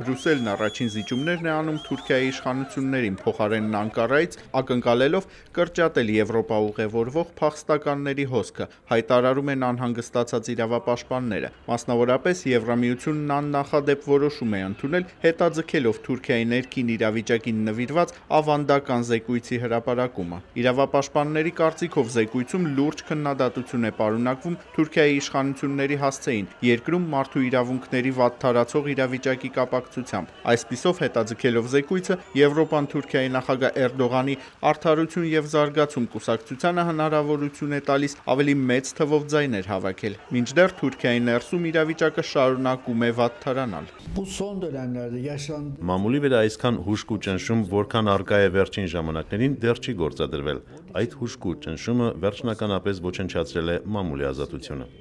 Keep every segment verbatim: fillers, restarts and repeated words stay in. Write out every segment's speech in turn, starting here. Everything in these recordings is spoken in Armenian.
Բրյուսելն առաջին զիջումներն է անում Թուրքիայի իշխանություններին, փոխարենն Անկարայից ակնկալելով կրճատել Եվրոպա ուղևորվող փախստականների հոսքը, հայտարարում են անհանգստացած իրավապաշտպանները։ Մասնավորապես Եվրամիությունն աննախադեպ որոշում է ընդունել հետաձգելով Թուրքիայի ներքին իրավիճակին նվիրված ավանդական զեկույցի հրապարակումը։ Իրավապաշտպանների կարծիքով զեկույցում լուրջ քննադատություն է պարունակվում Թուրքիայի իշխանությունների հասցեին երկրում մարդու իրավունքների վատթարացող իրավիճակի կապակցությամբ։ Այսպիսով հետաձգելով զեկույցը Եվրոպան Թուրքիայի նախագահ Էրդողանի «Արդարություն և զարգացում» կուսակցությանը հնարավորություն է տալիս ավելի մեծ թվով ձայներ հավաքել։ Մինչդեռ Թուրքիայի ներսում իրավիճակը շարունակում է վատթարանալ։ Մամուլի վրա այսքան հուժկու ճնշում, որքան առկա է վերջին ժամանակներին, դեռ չի գործադրվել։ Այդ հուժկու ճնշումը վերջնականապես ոչնչացրել է մամուլի ազատությունը։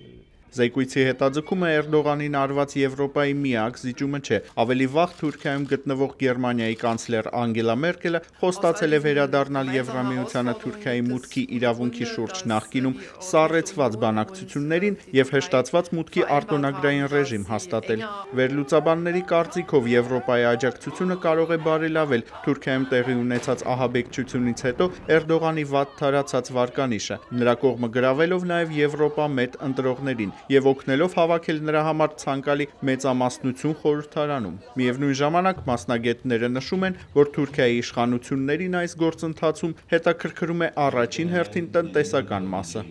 Զեկույցի հետաձգումը Էրդողանին արված Եվրոպայի միակ զիջումը չէ։ Ավելի վաղ Թուրքիայում գտնվող Գերմանիայի կանցլեր Անգելա Մերկելը խոստացել է վերադառնալ Եվրամիությանը Թուրքիայի մուտքի իրավունքի շուրջ նախկինում սառեցված բանակցություններին և հեշտացված մուտքի արտոնագրային ռեժիմ հաստատել։ Վերլուծաբանների կարծիքով Եվրոպայի աջակցությունը կարող է բարելավել Թուրքիայում տեղի ունեցած ահաբեկչությունից հետո Էրդողանի վատթարացած վարկանիշը, նրա կողմը գրավելով նաև Եվրոպա մետ ընտրողներին և օգնելով հավաքել նրա համար ցանկալի մեծամասնություն խորհրդարանում։ Միևնույն ժամանակ մասնագետները նշում են, որ Թուրքիայի իշխանություններին այս գործընթացում հետաքրքրում է առաջին հերթին տնտեսական մասը։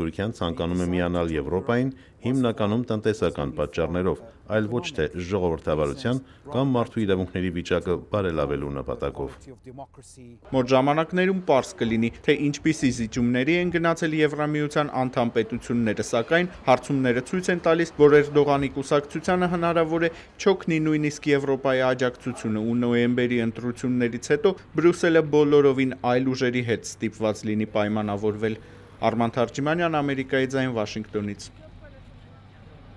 Թուրքիան ցանկանում է միանալ Եվրոպային հիմնականում տնտեսական պատճառներով, այլ ոչ թե ժողովրդավարության կամ մարդու իրավունքների վիճակը բարելավելու նպատակով։ Մոտ ժամանակներում պարզ կլինի, թե ինչպիսի զիջումների են գնացել Եվրամիության անդամ պետությունները, սակայն հարցումները ցույց են տալիս, որ Էրդողանի կուսակցությանը հնարավոր է չօգնի նույնիսկ Եվրոպայի աջակցությունը, ու նոյեմբերի ընտրություններից հետո Բրյուսելը բոլորովին այլ ուժերի հետ ստիպված լինի պայմանավորվել։ Արման Թարջիմանյան, Ամերիկայի ձայն, Վաշինգտոնից։